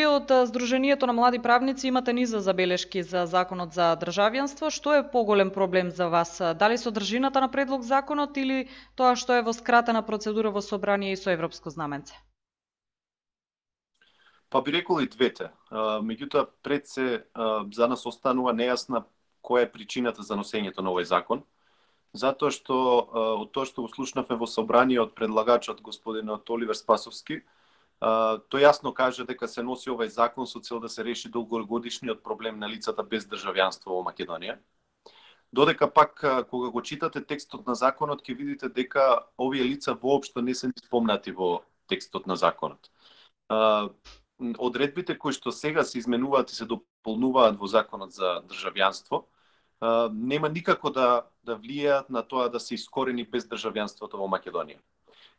вие од Сдруженијето на млади правници имате низа забелешки за законот за државјанство. Што е поголем проблем за вас? Дали содржината на предлог законот или тоа што е во скратена процедура во собрание и со европско знаменце? Па би рекол и двете. Меѓутоа, пред се за нас останува нејасна која е причината за носењето на овој закон. Затоа што од тоа што го слушнавме во собрание од предлагачот господинот Оливер Спасовски, тој јасно каже дека се носи овој закон со цел да се реши долгогодишниот проблем на лицата без државјанство во Македонија. Додека пак кога го читате текстот на законот ќе видите дека овие лица воопшто не се спомнати во текстот на законот. Одредбите кои што сега се изменуваат и се дополнуваат во законот за државјанство нема никако да влијаат на тоа да се искорени без државјанството во Македонија.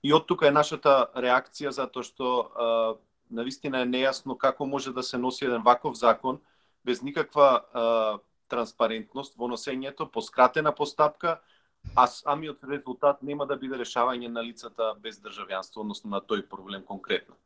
И од тука е нашата реакција, затоа што навистина е нејасно како може да се носи еден ваков закон без никаква транспарентност во носењето, по скратена постапка, а самиот резултат нема да биде решавање на лицата без државјанство, односно на тој проблем конкретно.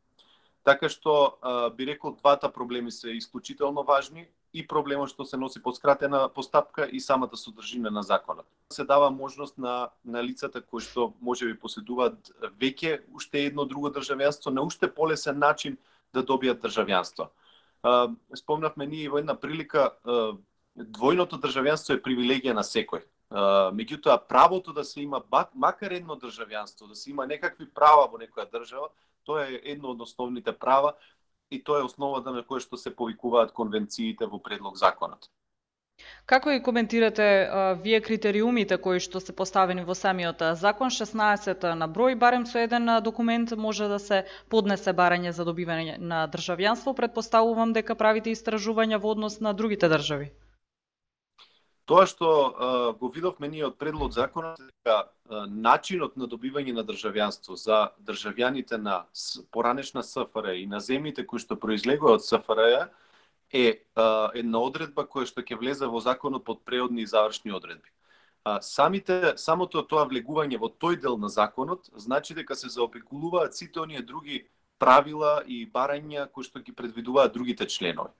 Така што би рекол двата проблеми се исклучително важни, и проблемот што се носи по скратена постапка и самата содржина на законот. Се дава можност на лицата кои што можеби поседуваат веќе уште едно друго државјанство на уште полесен начин да добијат државјанство. Спомнавме ние во една прилика, двојното државјанство е привилегија на секој. Меѓутоа правото да се има макар едно државјанство, да се има некакви права во некоја држава, тоа е едно од основните права и тоа е основата на која што се повикуваат конвенциите во предлог законот. Како и коментирате вие критериумите кои што се поставени во самиот закон, 16 на број, барем со еден документ може да се поднесе барање за добивање на државјанство, предпоставувам дека правите истражувања во однос на другите држави? Тоа што го видовме ние од предлог законот е дека начинот на добивање на државјанство за државјаните на поранешна СФР и на земјите кои што произлегува од СФР е една одредба која што ќе влезе во законот под преодни и завршни одредби. Самото тоа влегување во тој дел на законот значи дека се заобиколуваат сите оние други правила и барања кои што ги предвидуваат другите членови.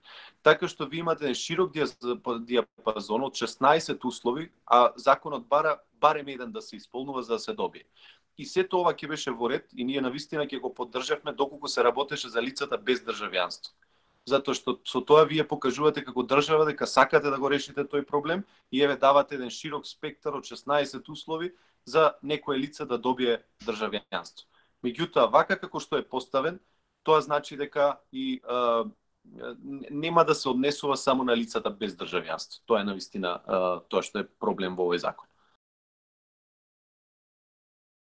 Така што ви имате широк диапазон од 16 услови, а законот бара барем еден да се исполнува за да се добие. И сето ова ќе беше во ред и ние навистина ќе го поддржавме доколку се работеше за лицата без државјанство. Затоа што со тоа вие покажувате како држава дека сакате да го решите тој проблем и еве давате еден широк спектар од 16 услови за некое лице да добие државјанство. Меѓутоа, вака како што е поставен, тоа значи дека и нема да се однесува само на лицата без државјанство. Тоа е навистина тоа што е проблем во овој закон.